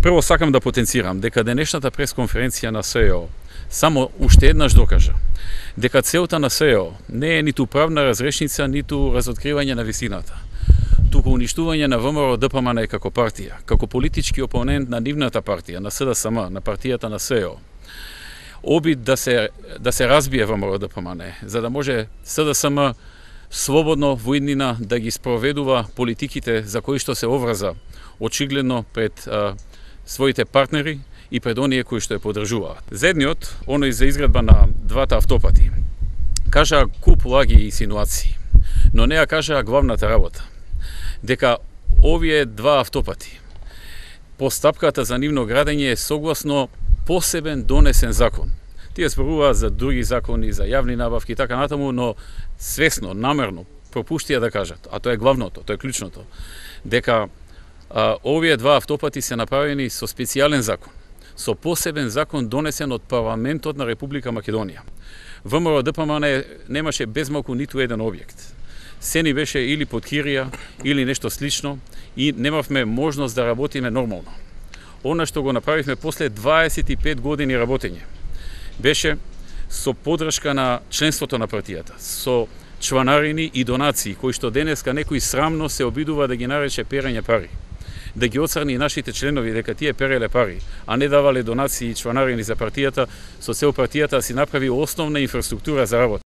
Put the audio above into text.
Прво сакам да потенцирам дека денешната пресконференција на СЕО само уште еднаш докажа дека целта на СЕО не е ниту правна разрешница, ниту разоткривање на вистината, туку уништување на ВМРО-ДПМН како партија, како политички опонент на нивната партија, на СДСМ, на партијата на СЕО. Обид да се разбие ВМРО-ДПМН, за да може СДСМ слободно во иднина да ги спроведува политиките за кои што се оврза очигледно пред своите партнери и пред оние кои што ја поддржуваат. Зедниот, оној за изградба на двата автопати, кажа куп лаги и инсинуации, но не ја кажа главната работа, дека овие два автопати, постапката за нивно градење е согласно посебен донесен закон. Тие зборуваат за други закони, за јавни набавки и така натаму, но свесно, намерно пропуштија да кажат, а тоа е главното, тоа е клучното, дека овие два автопати се направени со специјален закон, со посебен закон донесен од парламентот на Република Македонија. ВМРО-ДПМН немаше безмалку ниту еден објект. Се ни беше или под кирија, или нешто слично и немавме можност да работиме нормално. Она што го направивме после 25 години работење беше со поддршка на членството на партијата, со чланарини и донации, кои што денеска некој срамно се обидува да ги нарече перење пари, да ги оцрни нашите членови дека тие переле пари, а не давале донации и чланарини за партијата, со цел партијата да си направи основна инфраструктура за работа.